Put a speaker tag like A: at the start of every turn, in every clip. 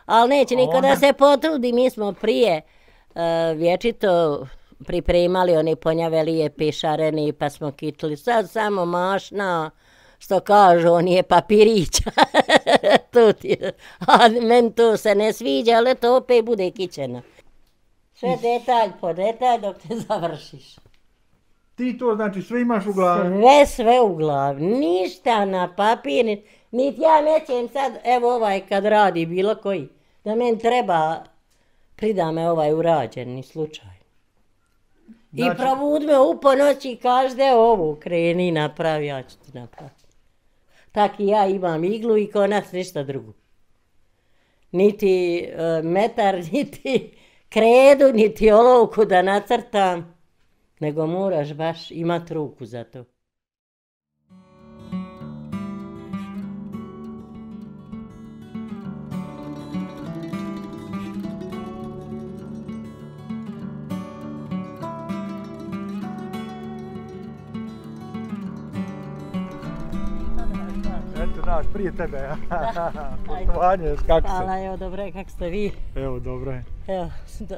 A: Ali neće niko da se potrudi, mi smo prije vječito pripremali oni ponjavelije pišareni pa smo kitili. Sad samo mašna, što kažu, on je papirića. A meni to se ne sviđa, ali to opet bude kićeno. Sve detalj po detalj dok te završiš.
B: Ti to znači sve imaš u glavi?
A: Sve u glavi, ništa na papir, niti ja nećem sad, evo ovaj kad radi bilo koji, da meni treba, prida me ovaj urađeni slučaj. Znači, i provud me u ponoći i každe ovu kreni napravi, ja ću ti napraviti. Tak i ja imam iglu i konac, ništa drugo. Niti metar, niti kredu, niti olovku da nacrtam, nego moraš baš imati ruku za to.
B: Eto naš, prije tebe. Poštovanje, kako se?
A: Hvala, evo dobro je, kako ste vi?
B: Evo, dobro je.
A: Evo,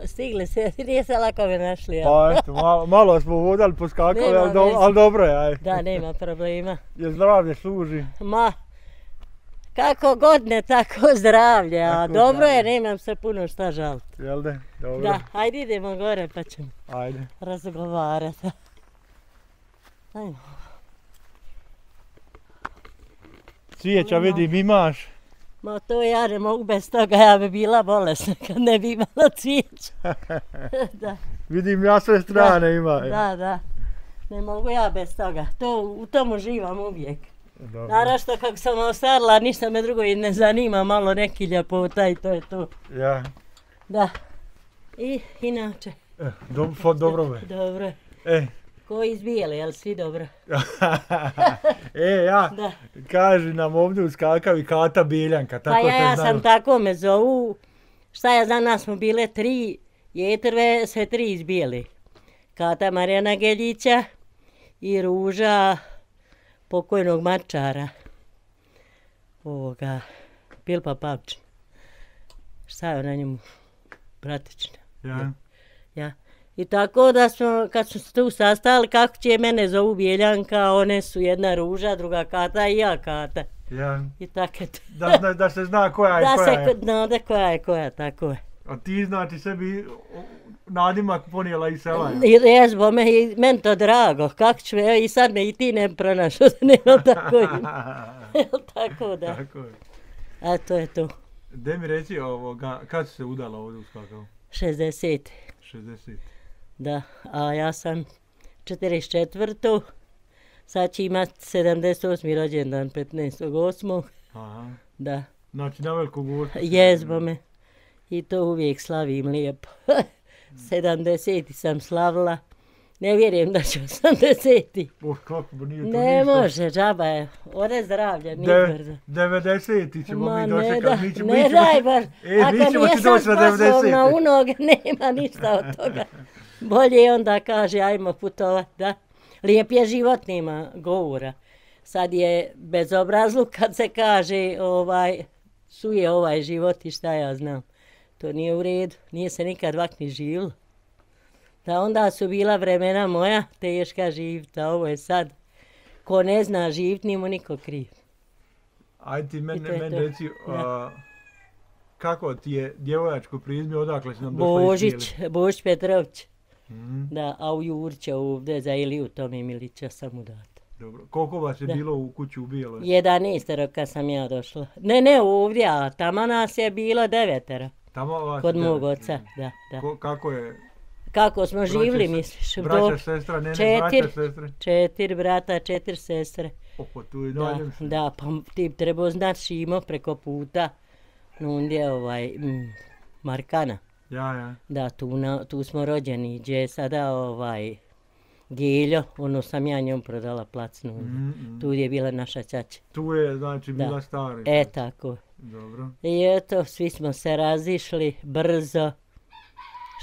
A: stigli se, nije se lako me našli.
B: Pa eto, malo smo vodali, poskakali, ali dobro je, aj.
A: Da, nema problema.
B: Jer zdravlje služi.
A: Ma, kako god ne, tako zdravlje, a dobro je, nemam se puno šta žaliti.
B: Jel de? Dobro.
A: Da, ajde idemo gore pa ćemo
B: Ajde.
A: razgovarati. Ajmo.
B: Cvijeća vidim imaš.
A: Ma to ja ne mogu bez toga, ja bi bila bolesna kad ne bi imala cvijeća. Da.
B: Vidim ja sve strane ima.
A: Da. Ne mogu ja bez toga. U tom uživam uvijek.
B: Dobro.
A: Naravno kako sam ostarila, ništa me drugo i ne zanima, malo neki ljepota i to je to.
B: Ja.
A: Da. I inače.
B: Dobro me.
A: Dobro. Ko izbijeli, jel svi dobro?
B: Da. Kaži nam ovdje uskakavi Kata Biljanka.
A: Pa ja sam tako me zovu. Šta ja znam, nas smo bile 3, jetrve sve 3 izbijeli. Kata Marijana Geljića i Ruža pokojnog mačara. Pilpa Pavčin. Šta je ona njemu? Bratična. Ja. I tako da smo, kad smo se tu sastali, kako će mene zovu Biljanka, one su jedna Ruža, druga Kata i ja Kata.
B: Ja.
A: I tako je to.
B: Da se zna koja je koja je.
A: Da se zna koja je koja, tako je.
B: A ti znači sebi nadimak ponijela iz sela?
A: Jes, bome, i meni to drago, kako ću, evo i sad me i ti ne pronašao, da nema tako ima. Tako da.
B: Tako je.
A: A to je to.
B: Gdje mi reci kad si se udala ovdje u Skakavu?
A: 60.
B: 60.
A: Da, a ja sam 44. Sad će imat 78. rođendan 15.8.
B: Aha.
A: Da.
B: Znači na Veliku Gospu?
A: Jezbome. I to uvijek slavim lijepo. 70. sam slavila. Ne vjerujem da ću 80.
B: Kako nije to
A: ne ništa. Može, džaba je. Ode zdravlja, nije brzo.
B: 90. ćemo mi dočekati.
A: Ne daj baš.
B: Mi ćemo ti doći na 90.
A: Na unoge, nema ništa od toga. Bolje onda kaže, ajmo putovat, da. Lijep je život, nema govora. Sad je bezobrazluk kad se kaže, suje ovaj život i šta ja znam. To nije u redu, nije se nikad ovak ni živilo. Da onda su bila vremena moja, teška živit, a ovo je sad, ko ne zna živit, nije mu niko kriv.
B: Ajde ti meni reci, kako ti je djevojačko prizme, odakle si nam došla iz Bijele?
A: Božić Petrović. Da, a u Jurća ovdje za Iliju Tomi Milića sam udata.
B: Dobro, koliko vas je bilo u kući u Bijeloj?
A: 11 kad sam ja došla. Ne ovdje, a tamo nas je bilo 9. Kod mog oca, da.
B: Kako je?
A: Kako smo živjeli, misliš?
B: Braća, sestra, braća, sestre?
A: 4 brata, 4 sestre.
B: Opa, tu je dalje.
A: Da, pa ti trebao znat Šimo preko puta. Ondje Markana.
B: Ja.
A: Da, tu smo rođeni, gdje je sada Giljo, ono sam ja njom prodala plac. Tu je bila naša ćaća.
B: Tu je, znači, bila stara.
A: Tako.
B: Dobro.
A: I eto, svi smo se razišli brzo.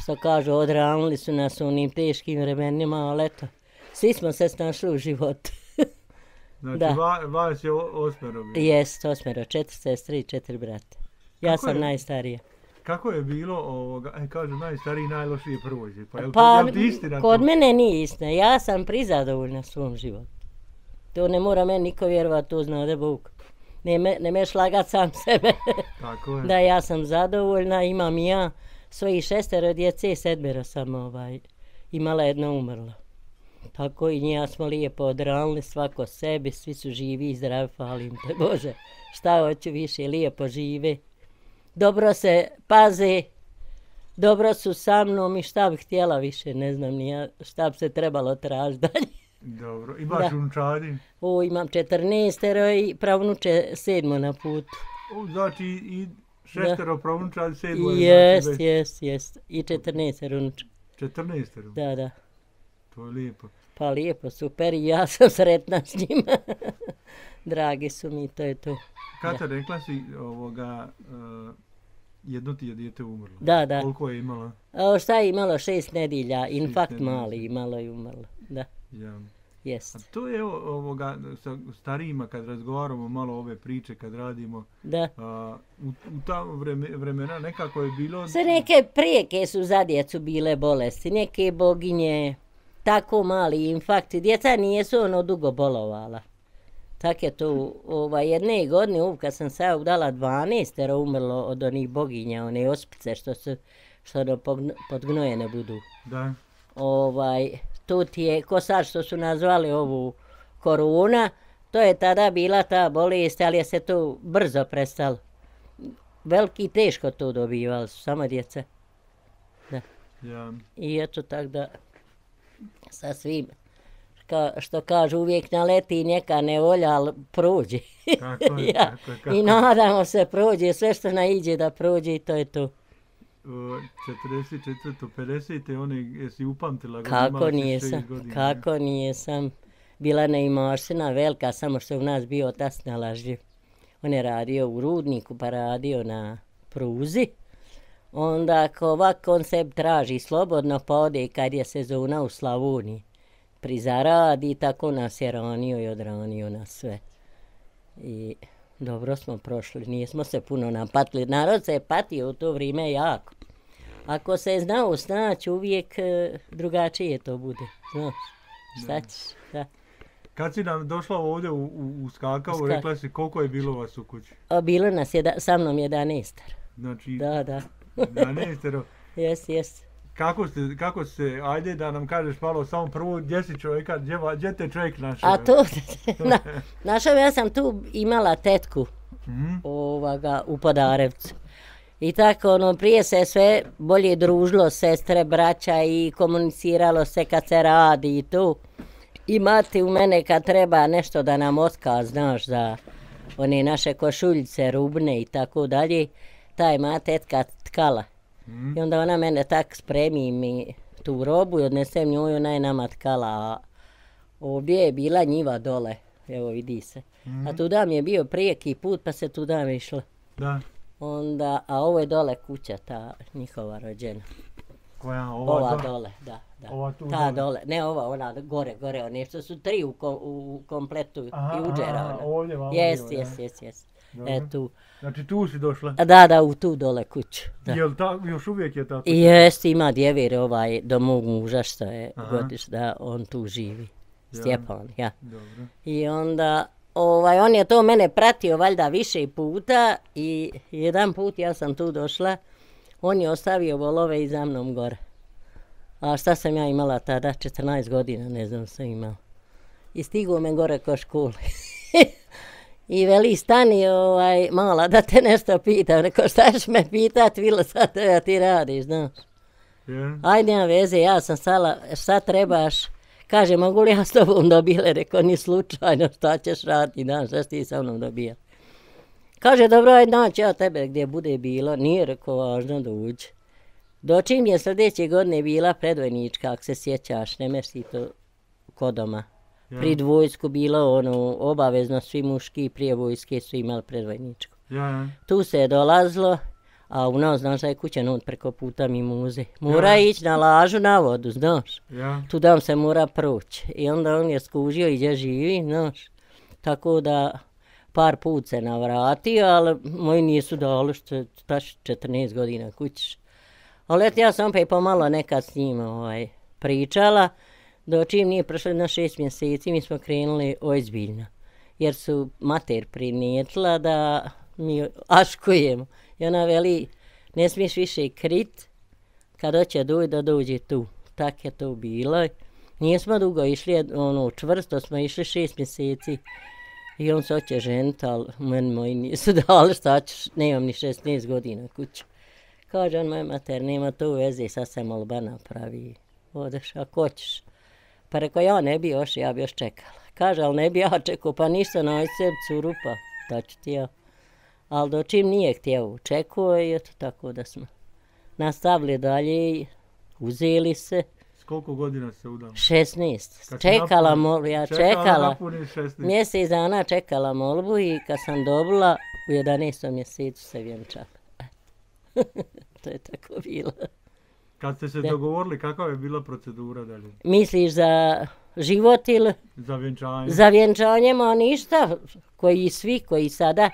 A: Što kažu, odranili su nas u onim teškim vremenima, ali eto, svi smo se snašli u životu.
B: Znači, vas je 8 bilo?
A: Jest, 8, 4 sestre i 4 brata. Ja sam najstarija.
B: Kako je bilo, kažu najstariji najlošije prođe? Pa,
A: Pa kod mene nije istina, ja sam prizadovoljna svom životu. To ne mora meni niko vjerovati, to zna da Bog. Ne meš lagat sam sebe.
B: Tako je.
A: Da, ja sam zadovoljna, imam i ja svojih 6 djece, 7 sam imala, jedno umrlo. Tako i njega smo lijepo odranili, svako sebi, svi su živi i zdravi, hvalim te Bože. Šta hoću više, lijepo žive. Dobro se paze, dobro su sa mnom i šta bih htjela više, ne znam ni ja šta bi se trebalo tražiti dalje.
B: Dobro, imaš unučadi?
A: Imam 14 i pravnuče 7 na putu.
B: Znači i 6 pravnučadi 7?
A: Jest. I 14 unuča.
B: 14?
A: Da.
B: To je lijepo.
A: Pa lijepo, super, i ja sam sretna s njima. Dragi su mi, to je to.
B: Kada rekla si jedno ti je dijete umrlo.
A: Da.
B: Koliko je imala?
A: Šta je imalo? 6 nedjelja, infarkt mali imalo i umrlo. Da.
B: Ja.
A: Jest.
B: A to je sa starijima kad razgovaramo malo ove priče, kad radimo.
A: Da.
B: U ta vremena nekako je bilo...
A: Sve neke prijeke su za djecu bile bolesti, neke boginje, tako mali infarkti. Djeca nijesu dugo bolovala. Tak je to, jedne godine, kad sam se udala 12 umrlo od onih boginja, one ospice što podgnojene budu.
B: Da.
A: To ti je, ko sad što su nazvali ovu korona, to je tada bila ta bolest, ali je se to brzo prestalo. Veliki teško to dobivali su, samo djeca. Da.
B: Ja.
A: I eto tak da sa svim, što kažu, uvijek naleti neka nevolja, ali prođe.
B: Tako je,
A: ja. Tako je. I nadamo se prođe, sve što naiđe da prođe i to je to.
B: 44. 50. Jesi upamtila?
A: Kako nijesam. Bila neimaština velika, samo što u nas bio otac nalažljiv. On je radio u rudniku, pa radio na pruzi. Onda ako ovako on se traži slobodno, pa ode kad je sezona u Slavoniji. Prizaradi, tako nas je ranio i odranio nas sve. I dobro smo prošli, nismo se puno napatili. Narod se je patio u to vrijeme jako. Ako se je znao snaći, uvijek drugačije to bude. Znaš, šta ćeš? Da.
B: Kad si nam došla ovdje u Skakavu, rekla si koliko je bilo vas u kući?
A: Bilo nas je sa mnom 11.
B: Znači,
A: da.
B: 11.
A: Jes.
B: Kako ste, ajde da nam kažeš malo samo prvo, gdje si čovjeka, gdje te čovjek našao?
A: A to, našao, ja sam tu imala tetku u Podarevcu. I tako, prije se sve bolje družilo, sestre, braća i komuniciralo se kad se radi i tu. I mati u mene kad treba nešto da nam otkaz, znaš, za one naše košuljice, rubne i tako dalje, taj ma tetka tkala. I onda ona mene tak spremi mi tu robu i odnesem nju, ona je nama tkala. A ovdje je bila njiva dole, evo vidi se. A tuda mi je bio prijeki put pa se tuda mi išla.
B: Da.
A: Onda, a ovo je dole kuća, ta njihova rođena.
B: Koja?
A: Ova dole, da.
B: Ova tu
A: ta dole. Ne ova, ona gore, one što su 3 u kompletu Juđera.
B: Ovdje vam.
A: Jes. Tu.
B: Znači tu si došla?
A: Da, u tu dole kuću. Da.
B: Jel još uvijek je ta kuća?
A: Jest, ima djevir do mog muža što je godiš, da on tu živi. Stjepan, ja.
B: Dobro.
A: I onda, on je to mene pratio valjda više puta i jedan put ja sam tu došla, on je ostavio volove i za mnom gore. A šta sam ja imala tada? 14 godina, ne znam sam imala. I stigo me gore ko škole. I veli, stani mala da te nešto pitam. Rekao, šta ćeš me pitat, Vilo, sad da ti radiš, znaš.
B: Yeah.
A: Ajde, nema veze, ja sam stala, šta trebaš? Kaže, mogu li ja s tobom dobile? Rekao, ni slučajno, šta ćeš raditi, znaš, šta ti sa mnom dobija? Kaže, dobro, ajde, naći ja tebe gdje bude bilo. Nije, rekao, važno da uđe. Dočim je sljedeće godine bila predvojnička, ako se sjećaš, ne mesi to kod doma. Prid vojsku bilo obavezno, svi muški prije vojske su imali predvojničku. Tu se je dolazilo, a u nas, znaš da je kuća preko puta mi muze. Mora ići na lažu na vodu, znaš. Tu dam se mora proći. I onda on je skužio i gdje živi, znaš. Tako da par put se navratio, ali moji nisu dali što je taš 14 godina kućiš. Ali eto, ja sam opet pomalo nekad s njim pričala, do čim nije prošlo na 6 mjeseci mi smo krenuli ozbiljno. Jer su mater prinijetila da mi aškujemo. I ona veli, ne smiješ više krit, kad hoće da dođe tu. Tak je to bilo. Nismo dugo išli, čvrsto smo išli 6 mjeseci. I on se hoće ženiti, ali meni moji nisu dali, šta ćeš, nemam ni 16 godina kuću. Kaže on, moj mater, nema to veze, sad se molba napravi. Odeš, ako hoćeš. Pa rekao, ja ne bi još, ja bi još čekala. Kaže, ali ne bi ja čekao, pa ništa, nađi sebi curu, pa da ću ti ja. Ali do čim nije htio, čekao i eto tako da smo nastavili dalje, uzeli se.
B: S koliko godina se udala?
A: 16. Čekala molbu, ja čekala.
B: Mjesec
A: dana čekala molbu i kad sam dobila, u 11. mjesecu se vjenčala. To je tako bilo.
B: Kad ste se dogovorili, kakva je bila procedura dalje?
A: Misliš za život ili?
B: Za vjenčanje.
A: Za vjenčanje, ma ništa. Koji sada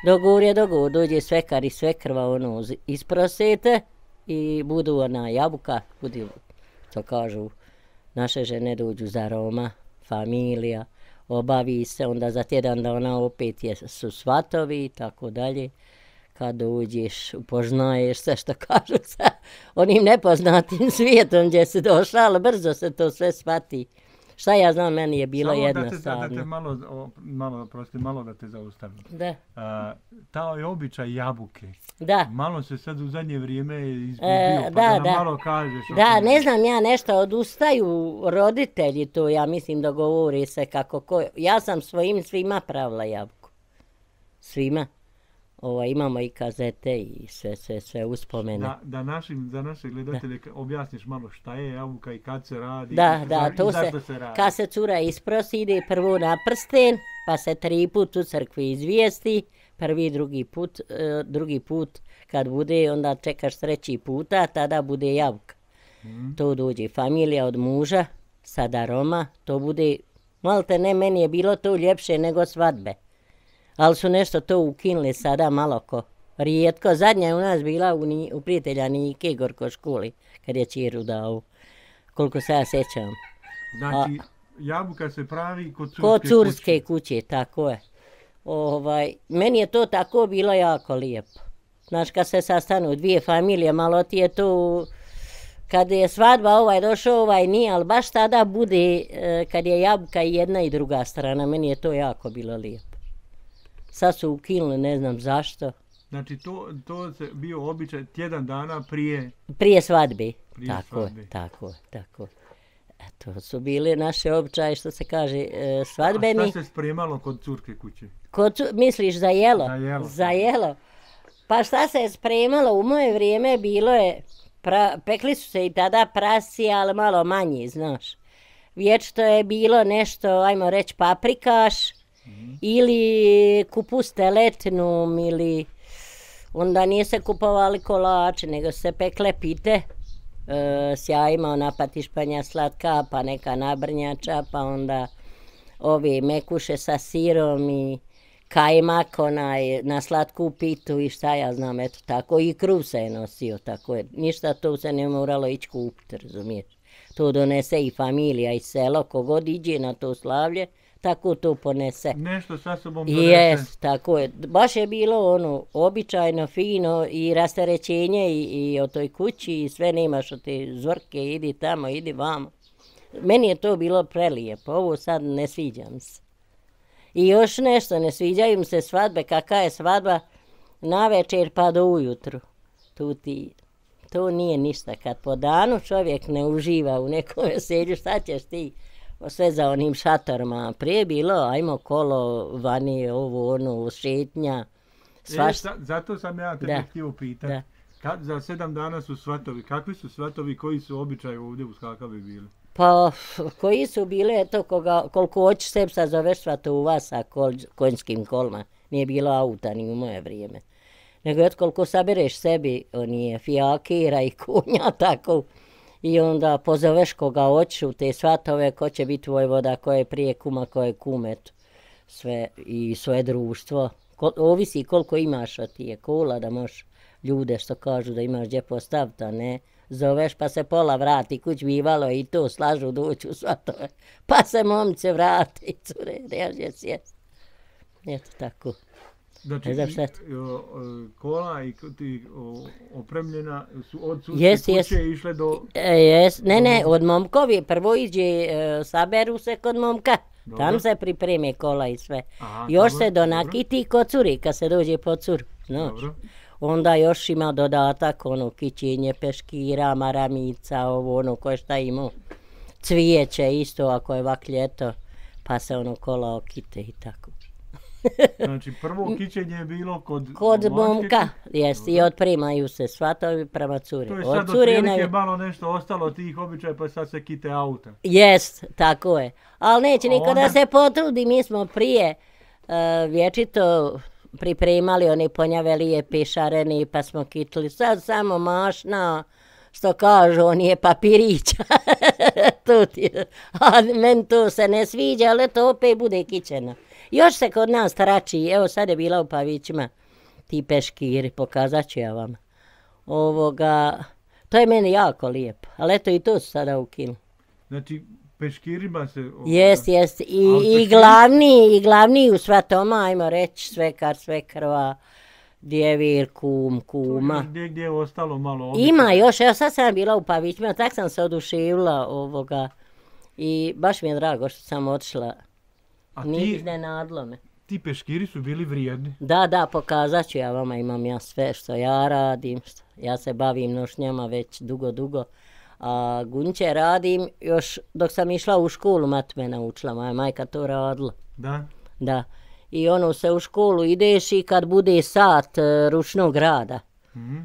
A: dogovor, dođe svekar i svekrva isprosete i budu jabuka, budu, to kažu, naše žene dođu za Roma, familija, obavi se, onda za tjedan dana opet su svatovi i tako dalje. Kad dođeš, upoznaješ se, što kažu, sa onim nepoznatim svijetom gdje si došla, ali brzo se to sve shvati. Šta ja znam, meni je bilo jednostavno.
B: Malo da te zaustavim.
A: Da.
B: Taj običaj jabuke.
A: Da.
B: Malo se sad u zadnje vrijeme izgubio, da malo kažeš.
A: Da, ne znam, ja nešto odustaju roditelji to, ja mislim da govori se kako. Ja sam svima pravila jabuku. Svima. Imamo i kazete i sve uspomene.
B: Za naše gledatelje objasniš malo šta je jabuka i kad se radi
A: i
B: zašto se radi.
A: Kad se cura isprosi, ide prvo na prsten, pa se 3 put u crkvi izvijesti, prvi, drugi put kad bude, onda čekaš 3. puta, tada bude jabuka. To dođe familija od muža, sada Roma, to bude, malte ne, meni je bilo to ljepše nego svadbe. Ali su nešto to ukinuli sada malo rijetko. Zadnja je u nas bila u prijatelja Nike Gorko školi, kad je čiru dao, koliko se ja sjećam.
B: Znači, jabuka se pravi
A: kod curske kuće, tako je. Meni je to tako bilo jako lijepo. Znaš, kad se sastanu 2 familije, malo ti je to, kad je svadba došao, nije, ali baš tada bude, kad je jabuka i jedna i druga strana, meni je to jako bilo lijepo. Sad su ukinuli, ne znam zašto.
B: Znači, to se bio običaj tjedan dana prije...
A: Prije svadbe. Tako. To su bili naše običaje, što se kaže, svadbeni.
B: A šta se spremalo kod curke kuće?
A: Misliš za jelo? Za jelo. Pa šta se je spremalo? U moje vrijeme bilo je, pekli su se i tada prasi, ali malo manje, znaš. Vječito je bilo nešto, ajmo reći, paprikaš, ili kupus teletnom, ili onda nije se kupovali kolače, nego se pekle pite s jajima, ona patišpanja slatka, pa neka nabrnjača, pa onda ove mekuše sa sirom i kajmak na slatku pitu i šta ja znam, eto tako. I kruv se je nosio, tako je. Ništa to se ne moralo ići kupiti, razumiješ. To donese i familija i selo, kogod iđe na to slavlje, tako to ponese.
B: Nešto sa sobom donese.
A: Jes, tako je. Baš je bilo običajno, fino i rasterećenje i o toj kući i sve, nemaš od te zvrke, idi tamo, idi vamo. Meni je to bilo prelijepo, ovo sad ne sviđam se. I još nešto, ne sviđaju mi se svadbe, kakva je svadba navečer pa do ujutru. To nije ništa, kad po danu čovjek ne uživa u nekom veselju, šta ćeš ti? Sve za onim šatorima. Prije bilo, ajmo kolo, vani, šetnja.
B: Zato sam ja tebe htio pitati. Za 7 dana su svatovi. Kakvi su svatovi, koji su običaji ovdje u Skakavi bili?
A: Pa, koji su bili, eto, koliko hoćeš sebi sazoveš svatovu sa konjskim kolima. Nije bilo auta ni u moje vrijeme. Nego eto, koliko sabereš sebi, fijakira i konja, tako. I onda pozoveš koga hoćeš u te svatove, ko će biti vojvoda, ko je prije kuma, ko je kumet. sve i svoje društvo. Ovisi koliko imaš od tije kola da možeš ljude što kažu da imaš gdje postaviti, a ne zoveš pa se pola vrati, kuć bivalo i to slažu doći u svatove. Pa se momce vrati, cure, reže sjest. Eto tako.
B: Znači, kola i ti opremljena su od sudske kuće išle do...
A: Ne, od momkovi. Prvo iđe, saberu se kod momka. Dobro. Tam se pripreme kola i sve. Aha, još dobro, se donakiti kod curi, kad se dođe po curu. Onda još ima dodatak, kićenje peškira, maramica, koje šta ima. Cvijeće isto, ako je vak ljeto, pa se kola okite i tako.
B: Znači prvo kićenje je bilo
A: kod momka, jest, i otprimaju se svatovi prema curi.
B: To je sad otprilike malo nešto ostalo tih običaja, pa sad se kite auta.
A: Jest, tako je. Ali neće niko da se potrudi, mi smo prije vječito pripremali one ponjavelije pišareni, pa smo kitili. Sad samo mašna, što kažu, on je papirića. A meni to se ne sviđa, ali to opet bude kićeno. Još se kod nas trači, evo sad je bila u Pavićima, ti peškiri, pokazat ću ja vam. To je meni jako lijepo, ali eto i to su sada ukinuli.
B: Znači, peškirima se...
A: Jest. I glavni u svatoma, ajmo reći, svekrva, djevir, kuma.
B: Gdje je ostalo malo
A: Ima još, evo sad sam bila u Pavićima, tak sam se oduševila i baš mi je drago što sam otišla. Nije iznenadilo me.
B: Ti peškiri su bili vrijedni?
A: Da, pokazat ću ja vama, imam ja sve što ja radim, ja se bavim nošnjama već dugo, a gunće radim još dok sam išla u školu, mat me naučila, moja majka to radila.
B: Da?
A: Da, i se u školu ideš i kad bude sat ručnog rada,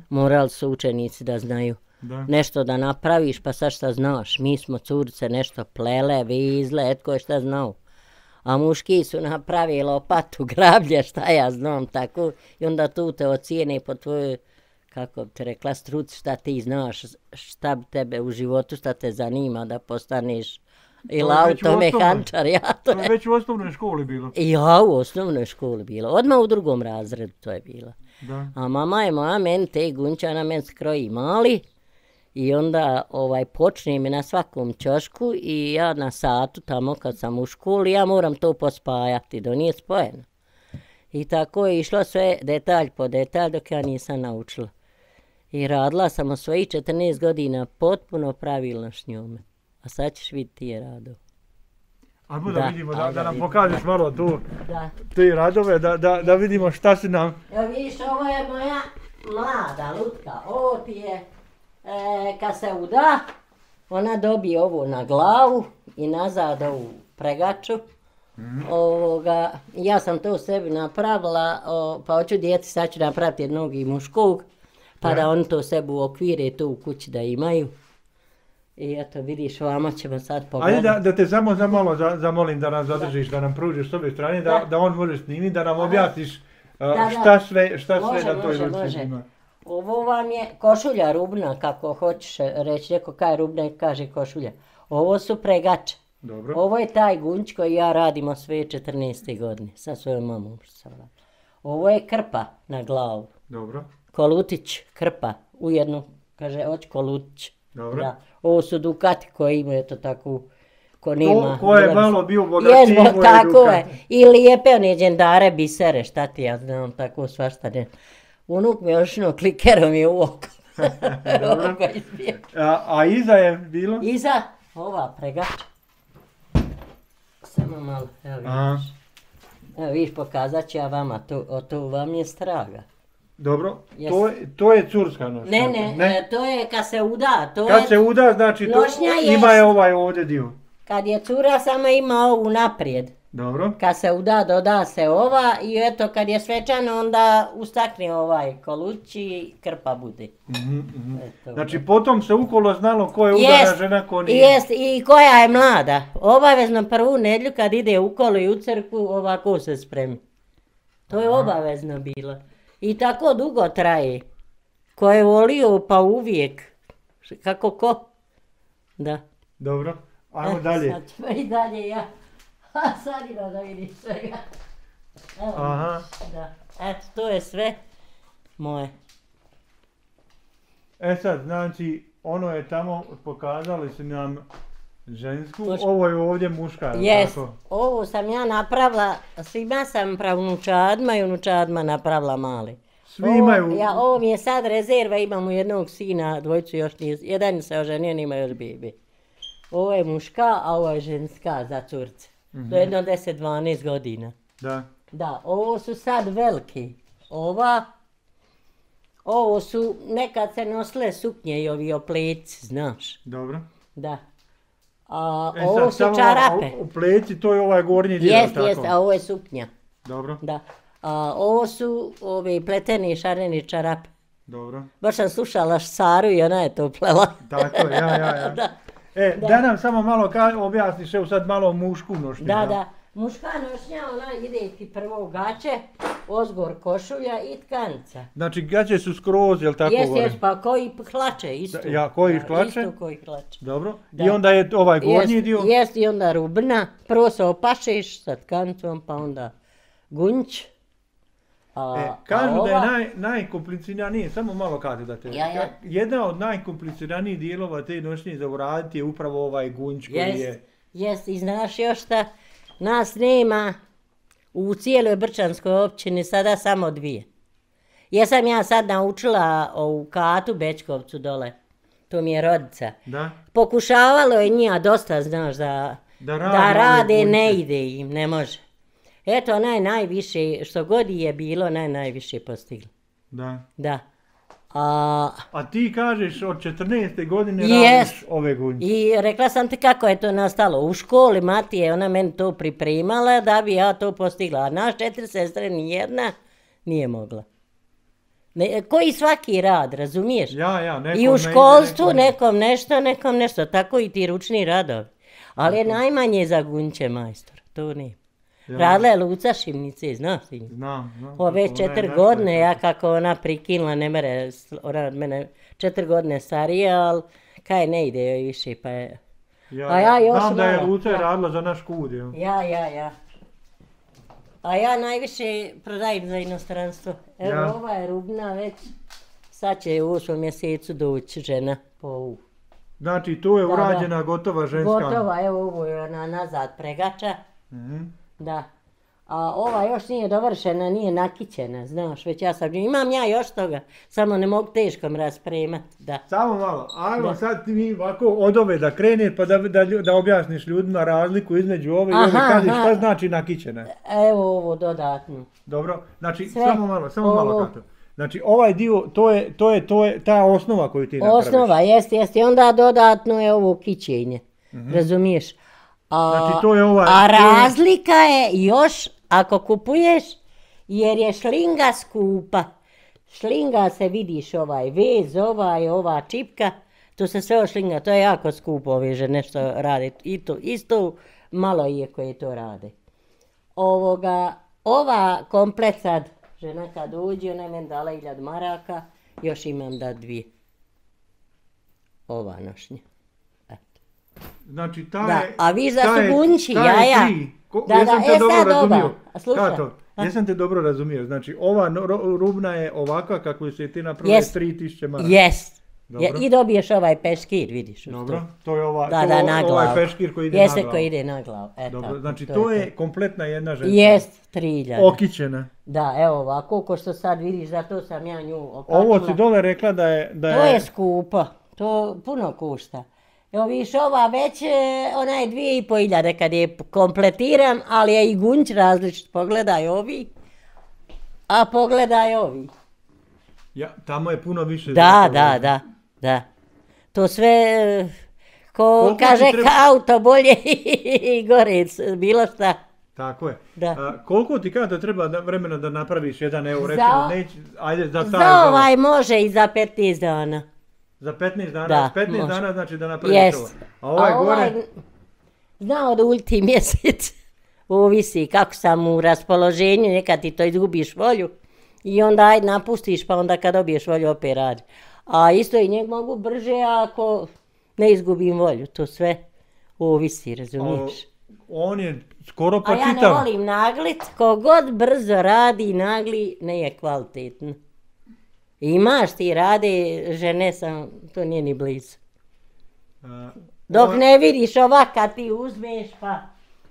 A: morali su učenici da znaju. Da. Nešto da napraviš, pa sad šta znaš, mi smo curice nešto plele, vizle, etko je šta znao. A muški su napravili lopatu, grablje, šta ja znam, tako. I onda tu te ocijene po tvojoj, kako bi te rekla, struci, šta ti znaš, šta bi tebe u životu, šta te zanima da postaneš ili automehančar.
B: To je već u osnovnoj školi bilo?
A: Ja, u osnovnoj školi bilo. Odmah u drugom razredu to je bilo. Da. A mama je moja meni te gunča na meni skroji mali. I onda počne mi na svakom ćošku i ja na satu tamo kad sam u školi, ja moram to pospajati, da nije spojeno. I tako je išlo sve detalj po detalj dok ja nisam naučila. I radila sam u svojih 14 godina potpuno pravilno s njome. A sad ćeš vidjeti ti je rado.
B: Ajmo da vidimo, da nam pokažeš malo tu te radove, da vidimo šta si nam...
A: Evo vidiš, ovo je moja mlada lutka, ovo ti je... kad se uda, ona dobije ovo na glavu i nazad ovu pregaču. Ja sam to sebi napravila, pa hoću djeci, sad ću napraviti jednog i muškog, pa da oni to sebi uokvire tu u kući da imaju. I eto, vidiš, ovamo ćemo sad pogledati.
B: Ajde da te samo za malo zamolim da nas zadržiš, da nam pružiš s ove strane, da on može snimiti, da nam objasniš šta sve na toj ruci ima.
A: Ovo vam je košulja rubna, kako hoćeš reći, neko kaj rubna kaže košulja. Ovo su pregače.
B: Dobro.
A: Ovo je taj gunč koji ja radim od svoje 14. godine, sa svojom mamom. Ovo je krpa na glavu.
B: Dobro.
A: Kolutić, krpa, ujedno, kaže, hoć kolutić.
B: Dobro. Da.
A: Ovo su dukati koji imaju to tako, ko nema.
B: Ko je malo bio bogatiji, imao je
A: tako je. I lijepe one džendare, bisere, šta ti ja znam, tako svašta ne. Unuk mi još klikerom je u oko.
B: A iza je bilo?
A: Iza, ova pregača. Samo malo, evo vidiš. Evo vidiš, pokazat ću ja vama, to vam je straga.
B: Dobro, to je curska nošnja.
A: Ne, to je kad se uda.
B: Kad se uda, znači to ima je ovaj ovdje dio.
A: Kad je cura, samo ima ovu naprijed.
B: Dobro.
A: Kad se uda, doda se ova i eto kad je svečano onda ustakne ovaj koluć i krpa bude.
B: Znači potom se ukolo znalo ko je udana žena, ko nije.
A: Jest, i koja je mlada. Obavezno prvu nedjelju kad ide ukolo i u crkvu ovako se spremi. To je obavezno bilo. I tako dugo traje. Ko je volio pa uvijek. Kako ko? Da.
B: Dobro, ajmo dalje.
A: Sad ćemo i dalje ja. A sad ima da vidiš svega. Evo,
B: Aha.
A: da. Eto, to je sve moje.
B: E sad, znači, ono je tamo, pokazali su nam žensku, ovo je ovdje muška,
A: Jest,
B: tako?
A: ovo sam ja napravila, svima sam pravnučadma i unučadma napravila mali.
B: Svi imaju...
A: Ovo mi je sad rezerva, imamo jednog sina, dvojicu još nije, jedan se oženio, nima još bebi. Ovo je muška, a ovo je ženska za curce. Do jedno 10-12 godina.
B: Da.
A: Da, ovo su sad veliki. Ovo su, nekad se nosile suknje i ovi opleci, znaš.
B: Dobro.
A: Da. A ovo su čarape.
B: Opleci, to je ovaj gornji dio, tako?
A: Jest, a ovo je suknja.
B: Dobro.
A: Da. A ovo su ovi pleteni šareni čarape.
B: Dobro.
A: Baš sam slušala Saru i ona je to plela.
B: Tako je, ja.
A: Da.
B: Da nam samo malo objasniš, evo sad malo mušku nošnju.
A: Da. Muška nošnja, ona ide ti prvo u gaće, ozgor košulja i tkanica.
B: Znači gaće su skroz, jel tako?
A: Jest, pa koji hlače isto.
B: Koji hlače?
A: Isto koji hlače.
B: Dobro. Da. I onda je ovaj gornji dio?
A: Jest, i onda rubna. Prvo se opašeš sa tkancom, pa onda gunć.
B: Kažu da je najkompliciraniji, samo malo kažu da te... Jedna od najkompliciranijih dijelova te nošnje za uraditi je upravo ovaj gunć koji je...
A: Jest, i znaš još šta, nas nema u cijeloj Brčanskoj općini sada samo 2. Jesam ja sad naučila u Katu Bečkovcu dole, to mi je rodica.
B: Da.
A: Pokušavalo je njija dosta, znaš, da rade, ne ide im, ne može. Eto, najviše, što god je bilo, najviše postigla.
B: Da.
A: Da.
B: A ti kažeš od 14. godine radiš ove gunje.
A: I rekla sam ti kako je to nastalo. U školi mati je ona meni to pripremala da bi ja to postigla. A naš 4 sestre nijedna nije mogla. Koji svaki rad, razumiješ?
B: Ja, nekom
A: i u školstvu nekom nešto, tako i ti ručni radovi. Ali je najmanje za gunće majstor, to nije. Radila je Luca Šimnice, znaš ti?
B: Znam.
A: Ove 4 godine, ja kako ona prikinula, ne mere, ona od mene 4 godine starija, ali kaj ne ide joj više, pa je...
B: Znam da je Luca radila za naš kud, jel?
A: Ja. A ja najviše prodajem za inostranstvo. Evo, ova je rubna već, sad će u 8. mjesecu doći žena po ovu.
B: Znači, tu je urađena gotova ženska...
A: Gotova, evo ovo je ona nazad pregača. Da. A ova još nije dovršena, nije nakićena, znaš, već imam ja još toga, samo ne mogu teškom raspremat, da.
B: Samo malo, ajmo sad ti mi ovako od ove da krene pa da objasniš ljudima razliku između ove i ove, kažeš šta znači nakićena.
A: Evo ovo dodatno.
B: Dobro, znači samo malo Kato. Znači ovaj dio, to je ta osnova koju ti napraviš.
A: Osnova, jest, i onda dodatno je ovo kićenje, razumiješ?
B: Znači to je
A: a razlika je još ako kupuješ, jer je šlinga skupa. Šlinga se vidiš ovaj vez, ova čipka, to se sve ošlinga, to je jako skupo ove žene što rade. Isto malo je koje to rade. Ova komplet sad, žena kad uđe, ona je meni dala 1000 maraka, još imam da 2. Ova nošnja.
B: Znači
A: a viš da su gunći, jaja.
B: Jesam te dobro razumio. Kato, jesam te dobro razumio. Znači ova rubna je ovakva kako se ti napravila 3000 maraka.
A: Jest. I dobiješ ovaj peškir, vidiš.
B: Dobro, to je ovaj peškir koji ide na glavu.
A: Jeste koji ide na glavu.
B: Dobro, znači to je kompletna jedna ženska.
A: Jest, 3000.
B: Okićena.
A: Da, evo ovako, ko što sad vidiš, zato sam ja nju okačila.
B: Ovo si dole rekla da je...
A: To je skupo, to puno košta. Evo viš ova već, ona je 2500 kad je kompletiram, ali je i gunć različit, pogledaj ovi, a pogledaj ovi.
B: Tamo je puno više.
A: Da. To sve, ko kaže auto bolje i gore, bilo šta.
B: Tako je. Koliko ti kada treba vremena da napraviš jedan evo, recimo, ajde za taj...
A: Za ovaj može i za 15 dana.
B: Za 15 dana? Da, 15 dana znači da napraviš ovo. A ovaj gore?
A: Zna oduljiti mjesec. Ovisi kako sam u raspoloženju, nekad ti to izgubiš volju. I onda ajde napustiš, pa onda kad dobiješ volju opet radi. A isto i njeg mogu brže ako ne izgubim volju. To sve ovisi, razumiješ?
B: On je skoro pa
A: čitav. A ja ne volim naglit, kogod brzo radi nagli, ne je kvalitetno. Imaš ti rade, žene sam, to nije ni blizu. Dok ne vidiš ovak kad ti uzmeš, pa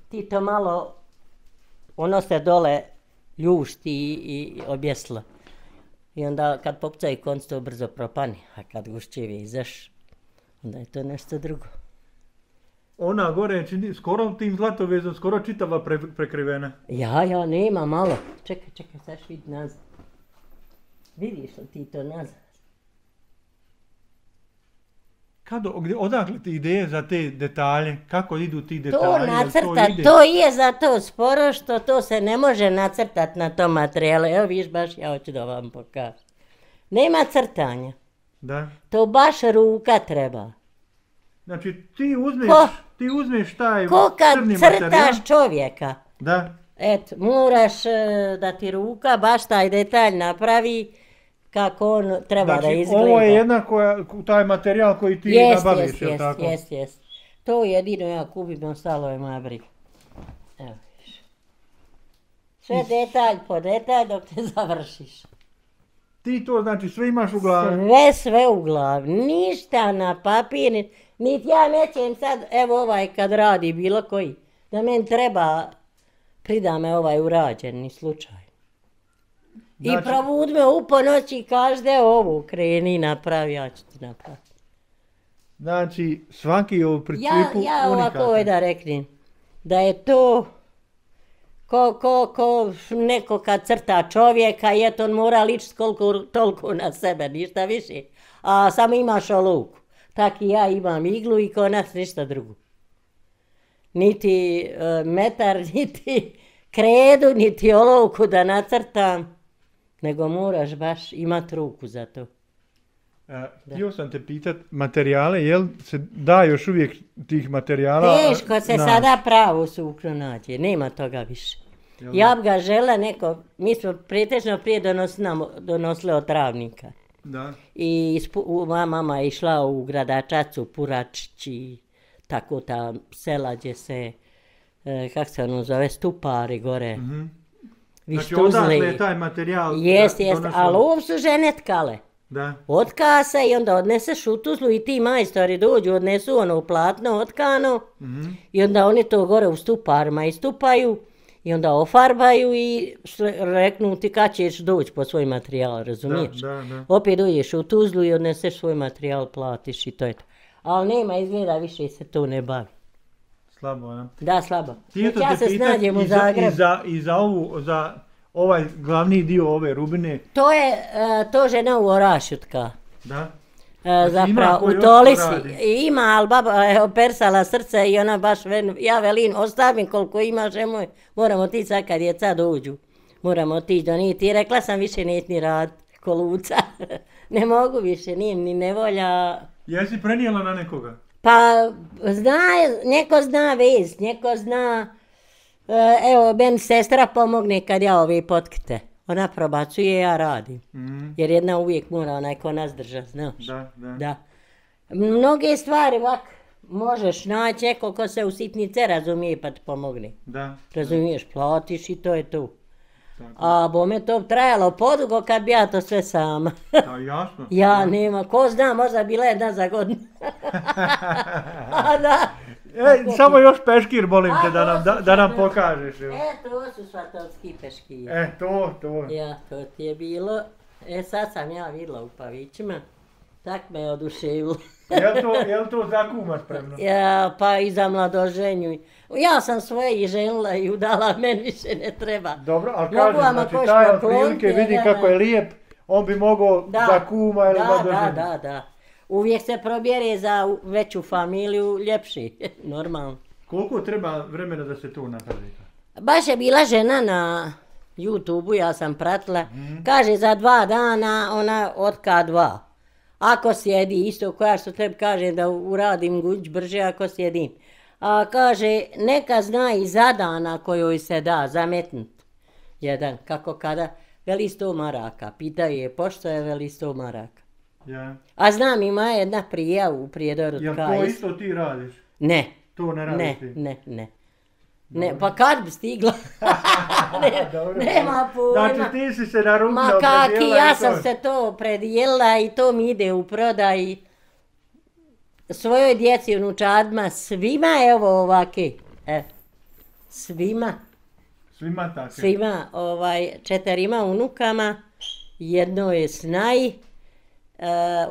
A: ti to malo, ono se dole ljušti i objeslo. I onda kad popcaju konc to brzo propani, a kad gušćevi izaš, onda je to nešto drugo.
B: Ona gore je skoro tim zlatovezom, skoro čitava prekrivena.
A: Ja, nema malo. Čekaj, sad vidi nazad. Vidiš li ti to nazad?
B: Odakle ti ideje za te detalje? Kako idu ti detalji?
A: To nacrta, to je zato sporo što to se ne može nacrtati na tom materijalu. Evo viš baš, ja hoću da vam pokažem. Nema crtanja.
B: Da.
A: To baš ruka treba.
B: Znači ti uzmeš taj
A: ko kad
B: crni materijal.
A: Crtaš čovjeka.
B: Da.
A: Eto, moraš da ti ruka baš taj detalj napravi kako on treba da izgleda.
B: Ovo je jedna taj materijal koji ti nabaviš, je li tako?
A: Jest. To jedino ja kupim, ostalo je moja briga. Evo viš. Sve detalj po detalj dok te završiš.
B: Ti to znači sve imaš u glavi?
A: Sve u glavi, ništa na papir, niti ja nećem sad, evo ovaj kad radi bilo koji, da meni treba, prida me ovaj urađeni slučaj. Znači, i provud me u ponoć i každe ovu kreni napravi, ja ću ti napraviti.
B: Znači svaki u principu unikatan.
A: Ja ovako da reknem, da je to ko neko kad crta čovjeka, eto on mora ličiti toliko na sebe, ništa više. A samo imaš olovku. Tak i ja imam iglu i konac ništa drugo. Niti metar, niti kredu, niti olovku da nacrtam, nego moraš baš imati ruku za to.
B: Htio sam te pitat, materijale, jel se da još uvijek tih materijala?
A: Teško se sada pravo sukno nađe, nema toga više. Ja bi ga žela neko, mi smo pretežno prije donosili od travnika.
B: Da.
A: I moja mama je išla u Gradačac, Puračić i tako ta sela gdje se, kako se ono zove, Stupari gore.
B: Znači odakle je taj materijal?
A: Jest, ali ovo su žene tkale.
B: Da.
A: Otka se i onda odneseš u Tuzlu i ti majstori dođu, odnesu ono platno otkano i onda oni to gore u Stuparima istupaju i onda ofarbaju i reknu ti kad ćeš doći po svoj materijal, razumiješ?
B: Da.
A: Opet dođeš u Tuzlu i odneseš svoj materijal, platiš i to je to. Ali nema izgleda, više se to ne bavi.
B: Slabo, ja?
A: Da, slabo. Ja se snađem u Zagrebu.
B: I za ovaj glavni dio ove rubine?
A: To žena u Orašju tka.
B: Da?
A: Zapravo, u Tolisi. Ima, ali baba je opersala srce i ona baš, ja velim, ostavim koliko imaš, moramo ti sad kad djeca dođu. Moramo otići do njih. I rekla sam više neći ni rad koluca. Ne mogu više, nije ni nevolja.
B: Jesi prenijela na nekoga?
A: Pa, neko zna vez, neko zna, evo, meni sestra pomogne kad ja ove potkite. Ona probacuje, ja radim. Jer jedna uvijek mora onaj ko nas drža, znaš. Da. Mnoge stvari ovak možeš naći neko ko se u sitnice razumije pa ti pomogne.
B: Da.
A: Razumiješ, platiš i to je to. A bome to trajalo podugo kad bi ja to sve sama.
B: Da, jasno.
A: Ja nema, ko zna, možda bila jedna za godinu. Da.
B: Samo još peškir molim te da nam pokažeš.
A: To su svatovski peškiri.
B: To.
A: Ja, to ti je bilo. Sad sam ja vidjela u Pavićima. Tak me je oduševilo.
B: Jel to za kuma spremno?
A: Ja, pa i za mladoženju. Ja sam svoje i ženila i udala, meni više ne treba.
B: Dobro, ali kažem, znači taj otprilike vidi kako je lijep, on bi mogao za kuma ili mladoženju.
A: Da. Uvijek se probjere za veću familiju, ljepši, normalno.
B: Koliko treba vremena da se to napravi?
A: Baš je bila žena na YouTubeu, ja sam pratila, kaže za 2 dana ona otka 2. Ako sjedi, isto koja što treba kaže da uradim guđ brže ako sjedim. A kaže, neka zna i za dana kojoj se da zametnut. Jedan, kako kada, veli 100 maraka. Pitaju je, pošto je veli 100 maraka.
B: Ja.
A: A znam, ima jedna prija u Prijedoru.
B: Jel to isto ti radiš?
A: Ne.
B: To ne radiš ti?
A: Ne. Ne, pa kad bi stigla? Nema pojma.
B: Znači ti si se na rukno
A: predijelila. Ma kaki, ja sam se to predijelila i to mi ide u prodaj. Svojoj djeci, unučadima, svima evo ovake. Svima.
B: Svima tako?
A: Svima, 4 unukama, jedno je snaj,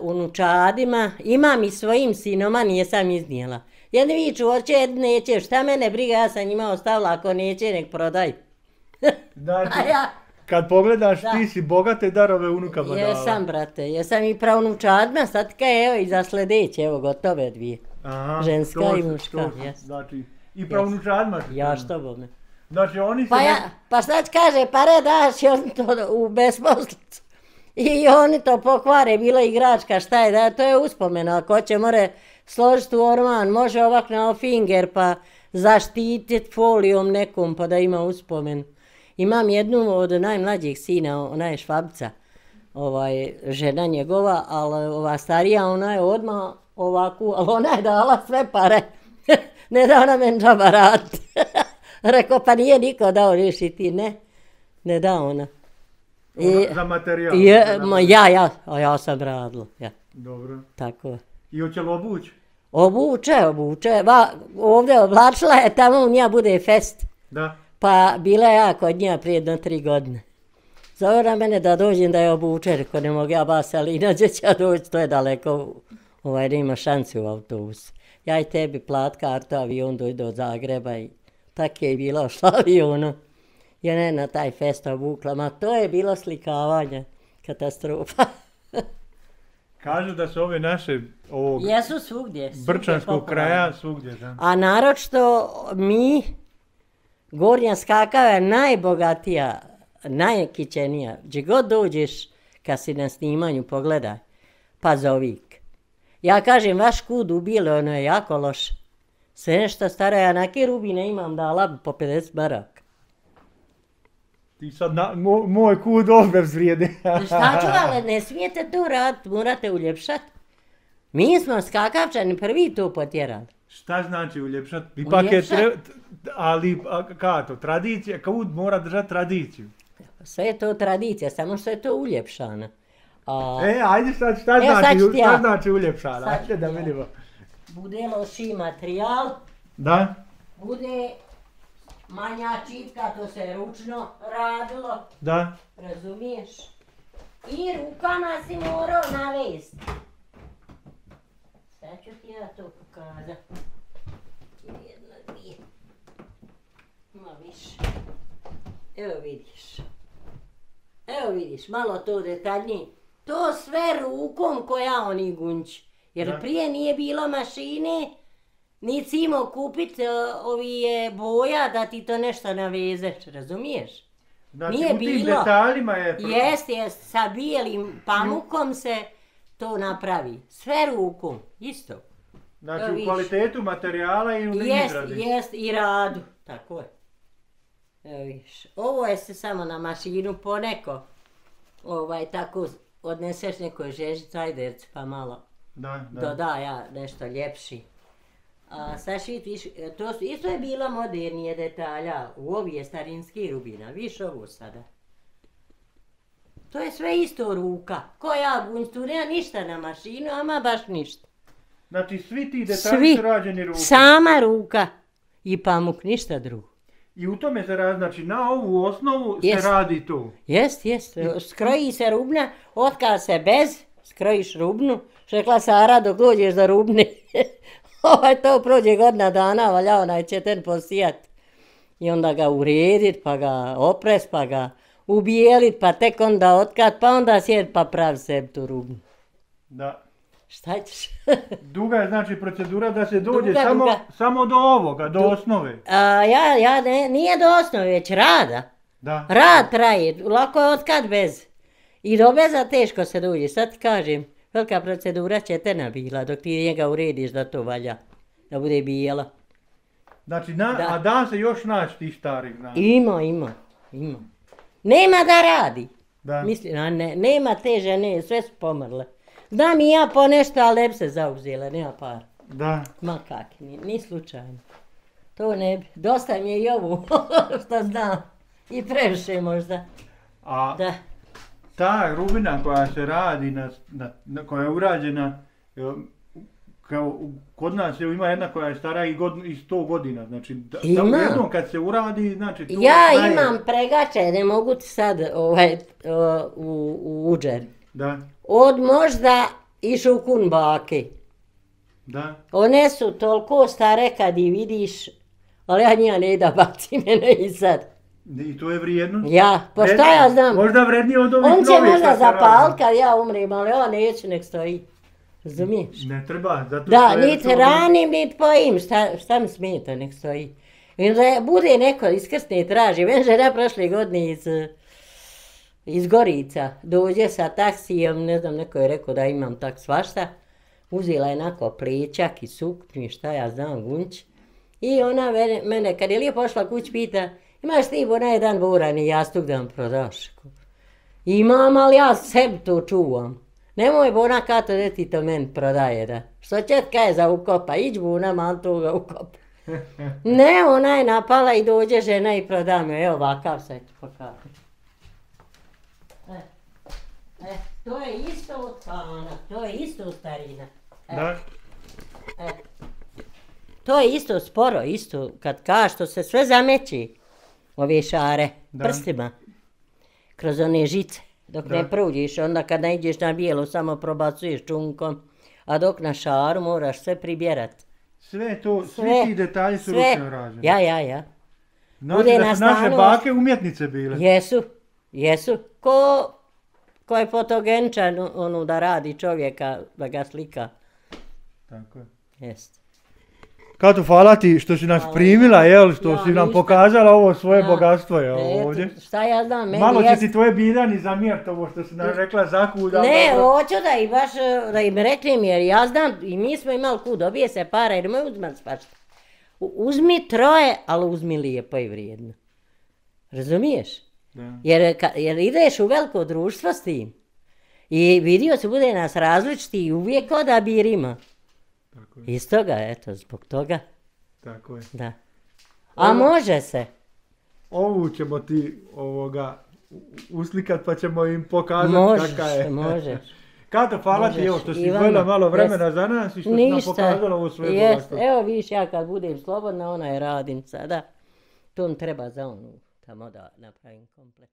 A: unučadima, imam i svojim sinoma, nisam iznijela. Jedni viču, hoće, jedni neće, šta mene briga, ja sam njima ostavila, ako neće, nek prodaj.
B: Znači, kad pogledaš, ti si bogate darove unukama dala.
A: Jesam, brate, jesam i pravnučadima, sad evo i za sljedeće, evo gotove 2. Aha, ženska i muška.
B: Znači, i pravnučadima.
A: Ja što bome.
B: Znači, oni se...
A: Pa sad kaže, pare daš i on to u besposlicu. I oni to pokvare, bilo igračka, šta je, da to je uspomena, ako će more složiti u orman, može ovak na finger pa zaštititi folijom nekom pa da ima uspomen. Imam jednu od najmlađih sina, ona je Švabica, žena njegova, ali ova starija, ona je odmah ovakvu, ali ona je dala sve pare, ne da ona meni džaba raditi. Rekao, pa nije niko dao rišiti, ne da ona.
B: Za materijal?
A: Ja sam radila, ja.
B: Dobro.
A: Tako.
B: I hoće li obući?
A: Obuče. Ovdje oblačila je, tamo u nja bude fest.
B: Da.
A: Pa bila ja kod nja prije 3 godine. Zove mene da dođem da je obuče, rekao ne mogu ja bas, ali inače će ja doći, to je daleko, nema šanci u autobus. Ja i tebi plat kartu, avion dojde od Zagreba i tako je bilo šla avionu. Ja ne na taj fest obukla, ma to je bilo slikavanje, katastrofa.
B: Kažu da su ove naše ovog
A: jesu svugdje,
B: brčanskog kraja svugdje. Da.
A: A naročito mi, Gornja Skakava je najbogatija, najkićenija. Gdje god dođeš kad si na snimanju pogledaj, pa zovik. Ja kažem, vaš kud ubile, ono je jako loše. Sve nešto staro, ja neke rubine imam dala po 50 maraka.
B: Ti sad moj kud obez vrijedi.
A: Šta ću, ali ne smijete to raditi, morate uljepšati. Mi smo skakavčani prvi to potjerali.
B: Šta znači uljepšati? Ipak je ali to, tradicija, kud mora držati tradiciju.
A: Sve je to tradicija, samo što je to uljepšano.
B: Ajde sad, šta znači uljepšano? Ajde da vidimo.
A: Bude loši materijal.
B: Da.
A: Bude manja čipka, to se ručno radilo.
B: Da.
A: Razumiješ? I rukama si morao navesti. Sad ću ti ja to pokazati. Jedna, 2. Ma više. Evo vidiš, malo to detaljnije. To sve rukom koja oni gunči. Jer prije nije bilo mašine, nisi imao kupiti boja da ti to nešto navezeš, razumiješ?
B: Znači nije u tim detaljima je...
A: Jest, sa bijelim pamukom se to napravi. Sve rukom, isto.
B: Znači u kvalitetu materijala i u izradi.
A: Jest, i radu, tako je. Evo viš, ovo je se samo na mašinu poneko, tako odneseš nekoj žeži cajderci pa malo. Doda ja nešto ljepši. Sad vidiš, to isto je bilo modernije detalja, u ovi je starinski rubina, viš ovo sada. To je sve isto ruka, ko ja gunj, tu nema ništa na mašinu, ama baš ništa.
B: Znači svi ti detalji su rađeni rukom?
A: Sama ruka i pamuk, ništa drugo.
B: I u tome se radi, znači na ovu osnovu se radi to?
A: Jest, skroji se rubna, otkad se bez, skrojiš rubnu, rekla Sara dok dođeš do rubne, to prođe godina dana, valja onaj četen posijat. I onda ga uredit, pa ga opres, pa ga ubijelit, pa tek onda otkat, pa onda sjed pa pravi sebi tu rubnu.
B: Da.
A: Šta ćeš?
B: Duga je znači procedura da se dođe samo do ovoga, do osnove.
A: Nije do osnove, već rada.
B: Da.
A: Rad traje, lako je otkat bez. I do beza teško se dođe, sad ti kažem. Velika procedura četena bila dok ti njega urediš da to valja, da bude bijela.
B: Znači, a da se još naći tih starih, znači?
A: Ima. Nema da radi.
B: Da.
A: Mislim, nema te žene, sve su pomrle. Znam i ja po nešto, ali ne bi se zauzela, nema par.
B: Da.
A: Ma kak, ni slučajno. To ne bi. Dosta mi je i ovu, što znam. I previše možda.
B: A ta rubina koja se radi, koja je urađena, kod nas ima jedna koja je stara i 100 godina. Znači, jednom kad se uradi, znači to
A: ja imam pregače, ne mogu ti sad u uđer.
B: Da.
A: Od možda i šukun bake.
B: Da.
A: One su toliko stare kad ih vidiš, ali ja njega ne da bacim mene i sad.
B: I to je vrijedno?
A: Ja, pa šta ja znam?
B: Možda vrednije od ovih
A: novih.
B: On
A: će možda zapalit kad ja umrem, ali on neće nek stoji. Razumiješ?
B: Ne treba, zato
A: da, niti ranim, niti pojim, šta mi smeta nek stoji. I da bude neko iskrsne i traži. Meni žena prošle godine iz Gorica dođe sa taksijem, ne znam, neko je rekao da imam tak svašta. Uzela je onako plećak i suknju, šta ja znam, gunć. I ona mene, kad je lijepo pošla kuć, pita, imaš ti bo na jedan burani jastuk da vam prodaš? Imam, ali ja sebi to čuvam. Nemoj bona kato da ti to meni prodaje, da. Što četka je za ukopa, ić buna, man toga ukopa. Ne, ona je napala i dođe žena i proda me, evo ovakav sad ću pokazati. To je isto od pana, to je isto od starina.
B: Da.
A: To je isto sporo, isto, kad što se sve zameći, ove šare, prstima, kroz one žice. Dok ne pruđiš, onda kad ne ideš na bijelo, samo probacuješ čunkom, a dok na šaru moraš sve pribjerat.
B: Sve to, svi ti detalji su ručno rađeni.
A: Ja.
B: Znači da su naše bake umjetnice bile.
A: Jesu. Ko je fotogenčan, da radi čovjeka, da ga slika.
B: Tako je.
A: Jest.
B: Kato, hvala ti što si nas primila, što si nam pokazala ovo svoje bogatstvo ovdje.
A: Šta ja znam, meni
B: malo će ti tvoje Biljani zamjeriti ovo što si nam rekla zakuda.
A: Ne, hoću da i baš, da im reknem, jer ja znam, i mi smo imali kud, dobije se para, jer nemoj uzmat svašta. Uzmi troje, ali uzmi lijepo i vrijedno. Razumiješ? Jer ideš u veliko društvo s tim. I vidio se bude nas različiti i uvijek odabir ima. Iz toga, eto, zbog toga.
B: Tako je.
A: Da. A može se.
B: Ovu ćemo ti uslikat pa ćemo im pokazati kaka je.
A: Možeš.
B: Kato, hvala ti što si izdvojila malo vremena za nas i što si nam pokazala ovo svoje bogatstvo.
A: Evo viš, ja kad budem slobodna, ona je radim sada. To mi treba za onu, tamo da napravim komplet.